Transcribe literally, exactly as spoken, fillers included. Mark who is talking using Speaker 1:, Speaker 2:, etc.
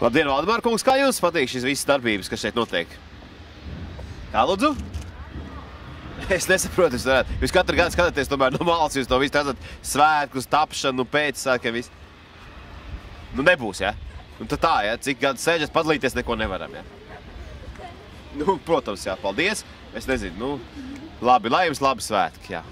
Speaker 1: Labdien, Valdemār kungs, kā jums patīk šis visas darbības, kas šeit notiek? Kā, lūdzu? Es nesaprotu, jūs varētu. Jūs katru gadu skatāties tomēr no malas, jūs to visu redzat svētkus, tapšanu, pēc svētkiem, visu. Nu, nebūs, ja? Un tad tā, ja? Cik gadu sēžas, padalīties neko nevaram, ja? Nu, protams, jā, paldies. Es nezinu, nu, labi, lai jums labi svētki, jā.